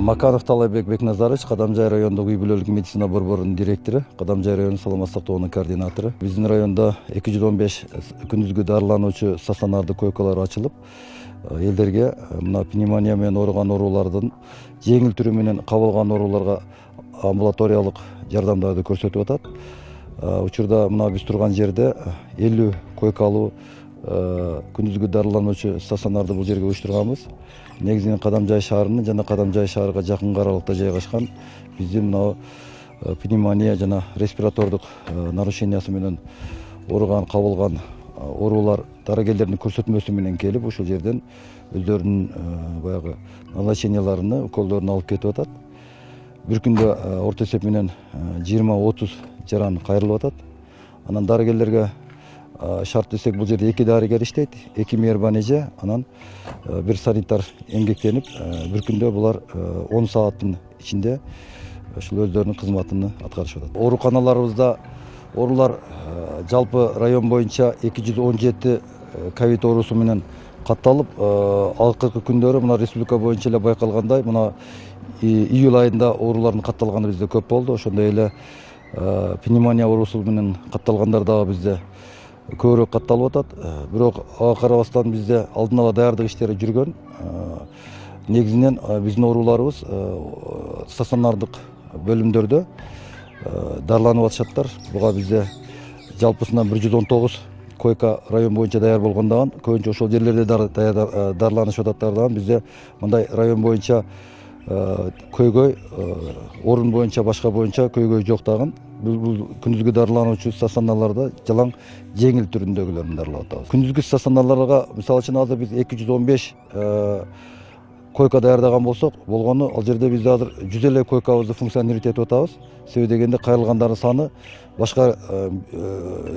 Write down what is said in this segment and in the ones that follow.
Маканов Талайбек Бекназарович, Кадамжай райондук үй бүлөлүк медицина борборунун директору, Кадамжай району саламат сактоонун координатору. Биздин районда 215 күндүзгү дарылануучу стационардык койкалар ачылып, элдерге мына пневмония менен ооруган оорулардын жеңил түрү менен кабыл алган ооруларга амбулаториялык жардамдарды көрсөтүп атат. Учурда мына биз турган жерде 50 койкалуу күндүзгү дарылануучу стационарды бул жерге уюштурганбыз. Негизинен Кадамжай шаарынын жана Кадамжай шаарга жакын аралыкта жайгашкан биздин мына пневмония жана респиратордук нарушениясы менен ооруган кабыл алган оорулар дарыгерлердин көрсөтмөсү менен келип, ушул жерден өздөрүнүн баягы назначенияларыны, уколдорун алып кетип атат. Бир күндө орто эсеп менен 20-30 жаран кайрылып атат. Анан дарыгерлерге шарт десек, бул жерде 2 дарыгер иштейт, 2 мейирбан эже, анан бир санитар эмгектенип, бир күндө булар 10 сааттын ичинде ушул өздөрүнүн кызматын аткарышып атат. Ооруканаларыбызда оорулар жалпы район боюнча 217 ковид оорусу менен катталып, акыркы күндөрү мына республика боюнча эле байкалгандай, мына июль айында оорулардын катталганы бизде көп болду. Ошондой эле пневмония оорусу менен катталгандар дагы бизде көбүрөөк катталып атат. Бирок ага карабастан бизде алдын ала даярдык иштери жүргөн. Негизинен биздин ооруларыбыз стационардык бөлүмдөрдө дарыланып атышаттар. Буга бизде жалпысынан 119 койка район боюнча даяр болгондогон, көбүнчө ошол жерлерде дарыланышып ататтардагы бизде мындай район боюнча көйгөй, орун боюнча башка боюнча көйгөй жок дагы. Бул күндүзгү дарылануучу стационарларда жалаң жеңил түрүндөгүлөрүн дарылап атабыз. Күндүзгү стационарларга мисалы үчүн азыр биз 215 койка даярдаган болсок, болгону ал жерде биз азыр 100 эле койкабызды функционировать этип атабыз. Себеби дегенде кайрылгандардын саны башка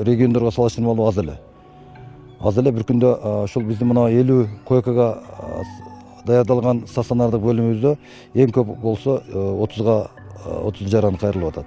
региондорго салыштырмалуу аз эле. Аз эле бир күндө ошол биздин мына 50 койкага даярдалган стационардык бөлүмүбүздө эң көп болсо 30 жаран кайрылып атат.